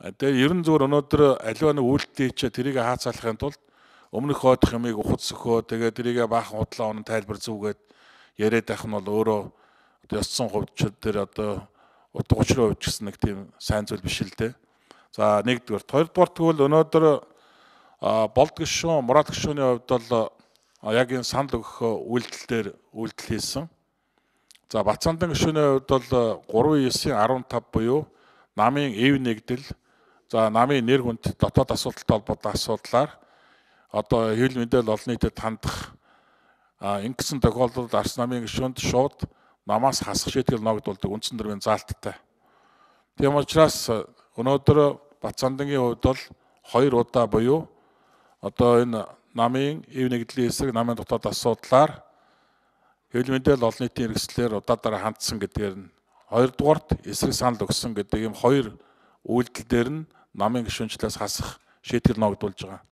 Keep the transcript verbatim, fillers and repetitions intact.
Тэгээ ерөн зүгээр өнөөдөр аливаа нэг үйлдэл хийчээ тэрийг хаацаалахын тулд өмнөх хойдох юмыг ухад сөхөө тэгээ тэрийг баахан худлаа онон тайлбар зүгээд яриад байх нь бол өөрөө одоо ёсцсон хувьчид дээр одоо утга учрын хувьд гэсэн нэг тийм сайн зүйл биш л дээ. За нэгдүгээр, хоёрдугаар тэгвэл өнөөдөр болд гишүүн, Мурад гишүүний хувьд бол яг энэ санал өгөх үйлдэл дээр үйлдэл хийсэн. За Бацаандан гишүүний хувьд бол гурван девять арвантав буюу намын эв нэгдэл, за намын нэр хүнд дотоод асуудалтай холбоотой асуудлаар одоо хэвлэл мэдээлэл олон нийтэд хандах ингэсэн тохиолдолд Арс намын гишүүнд шууд намаас хасах шийтгэл ногдуулдаг үндсэн нэрмийн заалттай. Тийм учраас өнөөдөр Бацаандангийн хувьд бол хоёр удаа буюу одоо энэ намын эв нэгдлийн эсрэг намын дотоод асуудлаар хэвлэл мэдээлэл олон нийтийн хэрэгслээр удаадараа хандсан гэдгээр нь хоёрдугаарт эсрэг санал өгсөн гэдэг ийм хоёр үйлдэл дээр нь намын гишүүнчлээс хасах шийтгэл ногдуулж байгаа.